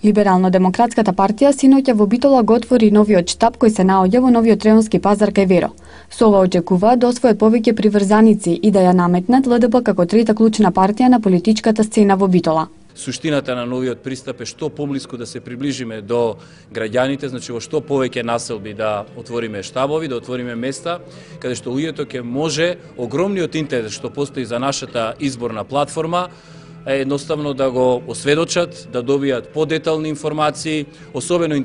Либерално-демократската партија синоќа во Битола го отвори новиот штаб кој се наоѓа во новиот Треонски пазар кај Веро. Со ова очекуваат да освојат повеќе приврзаници и да ја наметнат ЛДП како трета клучна партија на политичката сцена во Битола. Суштината на новиот пристап е што поблиску да се приближиме до граѓаните, значи во што повеќе населби да отвориме штабови, да отвориме места каде што луѓето ќе може огромниот интерес што постои за нашата изборна платформа едноставно да го осведочат, да добијат подетални информации, особено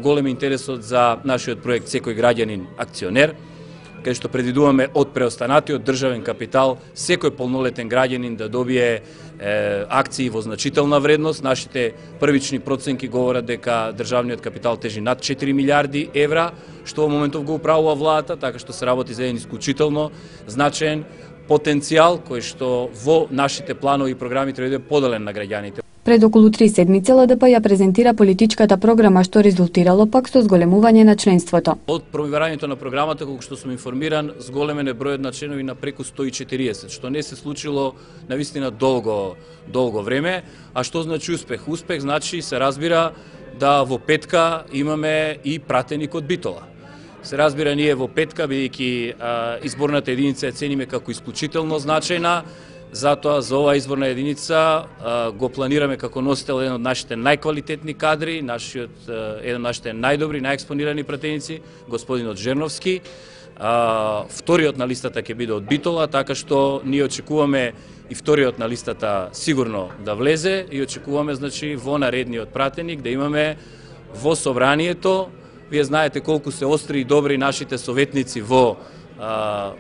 голем интересот за нашиот проект Секој граѓанин акционер, каде што предвидуваме од преостанатиот државен капитал секој полнолетен граѓанин да добие акции во значителна вредност. Нашите првични проценки говорат дека државниот капитал тежи над 4 милиарди евра, што во моментов го управува владата, така што се работи за еден исклучително значаен потенцијал кој што во нашите планови и програми треба да биде поделен на граѓаните. Пред околу 3 седмици ЛДП ја презентира политичката програма што резултирало пак со зголемување на членството. Од промивањето на програмата, колку што сум информиран, зголемен е бројот на членови на преку 140, што не се случило навистина долго време. А што значи успех? Успех значи се разбира да во петка имаме и пратеник од Битола. Се разбира, ние во петка, бидејќи изборната единица ја цениме како исклучително значајна, затоа за оваа изборна единица го планираме како носител еден од нашите најквалитетни кадри, еден од нашите најдобри, најекспонирани пратеници, господинот Жерновски. Вториот на листата ќе биде од Битола, така што ние очекуваме и вториот на листата сигурно да влезе и очекуваме, значи, во наредниот пратеник да имаме во собранието. Вие знаете колку се остри и добри нашите советници во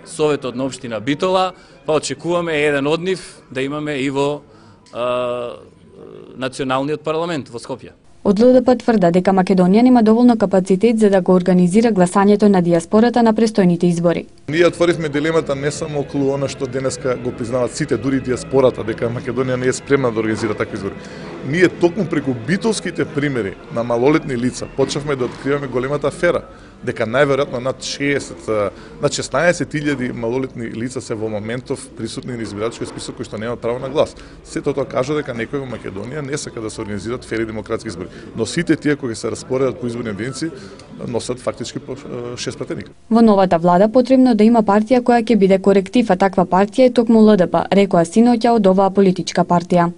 Советот на општина Битола, па очекуваме еден од нив да имаме и во националниот парламент во Скопје. Од ЛДП тврда дека Македонија нема доволно капацитет за да го организира гласањето на дијаспората на престојните избори. Ние отворивме дилемата не само околу она што денеска го признаваат сите, дури дијаспората, дека Македонија не е спремна да организира такви избори. Ние токму преку битолските примери на малолетни лица почнавме да откриваме големата афера, дека најверојатно над 16.000 малолетни лица се во моментов присутни на избирачкиот список кои што немаат право на глас. Сето тоа кажа дека некој во Македонија не сака да се организираат фери демократски избори. Но сите тие кои се распоредат по изборни единици носат фактички по 6 пратеника. Во новата влада потребно да има партија која ќе биде коректив, а таква партија е токму ЛДП, рекоа синоќа од оваа политичка партија.